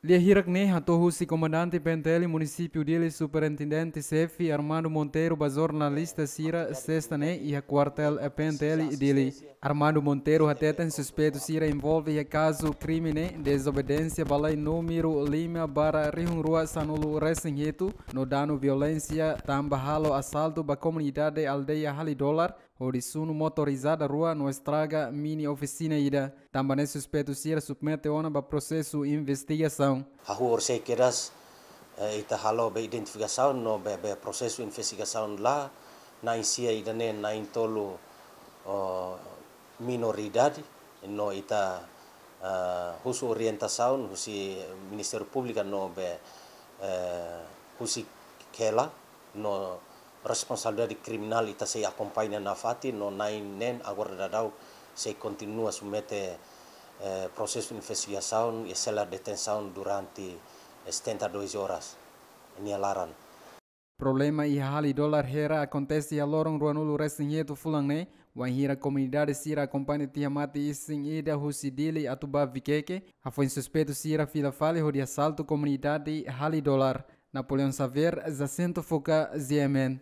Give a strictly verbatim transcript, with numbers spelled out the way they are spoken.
Lia hirak ne'e hato'o husi komandante P N T L munisípiu Dili, superintendente xefe Armando Monteiro, ba jornalista sira sesta ne'e iha kuartél P N T L Dili. Armando Monteiro hateten suspeitu sira envolve iha kazu krime ne'e dezobediénsia ba lei númeru lima barra rihun rua sanulu resin hitu, no danu violénsia tanba halo asaltu ba komunidade aldeia Hali Dolar, hodi sunu motorizada rua no estraga mini ofisina ida. Tanba ne'e suspeitu sira submete ona ba prosesu investigasaun. Hahú orsida kedas, eh, ita halo be identifikasaun no be, be prosesu investigasaun la, na'in sia ida-ne'e na'in tolu, oh, minoridade, no ita, ah, husu orientasaun husi Ministériu Públiku no be, eh, husi Kela, no responsabilidade kriminál ita sei akompaña nafatin, no na'in neen agora daudaun sei kontinua submete, eh, prosesu investigasaun iha sela detensaun durante setenta e dois horas nia laran. Problema iha Hali Dolar Hera akontese iha loron ruanulu resin hitu fulan ne'e, wainhira komunidade sira akompaña tiha mate isin ida husi Dili atu ba Vikeke, hafoin suspeitu sira fila fali hodi asaltu komunidade Hali Dolar. Napoleão Xavier, Jacinto Fuca, G M N.